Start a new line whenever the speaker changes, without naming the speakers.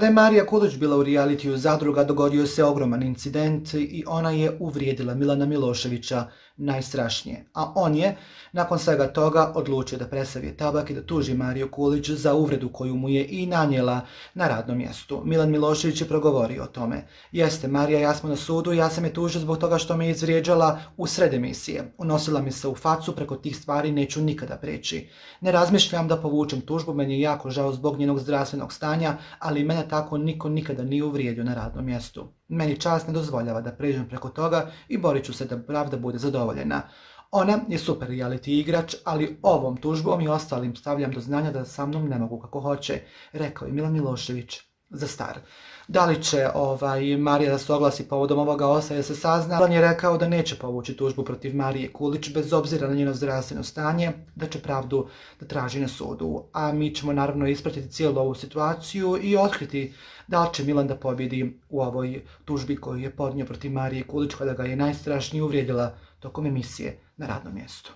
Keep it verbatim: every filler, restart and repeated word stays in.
Kada je Marija Kulić bila u realitiju Zadruga, dogodio se ogroman incident i ona je uvrijedila Milana Miloševića najstrašnije. A on je, nakon svega toga, odlučio da presavije tabak i da tuži Mariju Kulić za uvredu koju mu je i nanijela na radnom mjestu. Milan Milošević je progovorio o tome. Jeste, Marija, ja smo na sudu, ja sam je tužio zbog toga što me izvrijeđala u sred emisije. Unosila mi se u facu, preko tih stvari neću nikada preći. Ne razmišljam da povučem tužbu, meni je jako žao zbog njenog zdravstvenog stanja, ali mene tako niko nikada nije uvrijedio na radnom mjestu. Meni čast ne dozvoljava da pređem preko toga i borit ću se da pravda bude zadovoljena. Ona je super reality igrač, ali ovom tužbom i ostalim stavljam do znanja da sa mnom ne mogu kako hoće, rekao je Milan Milošević za Star. Da li će ovaj, Marija da se oglasi povodom ovoga ostaje se sazna. On je rekao da neće povući tužbu protiv Marije Kulić bez obzira na njeno zdravstveno stanje, da će pravdu da traži na sudu. A mi ćemo naravno ispratiti cijelu ovu situaciju i otkriti da li će Milan da pobjedi u ovoj tužbi koju je podnio protiv Marije Kulić kada ga je najstrašnije uvrijedila tokom emisije na radnom mjestu.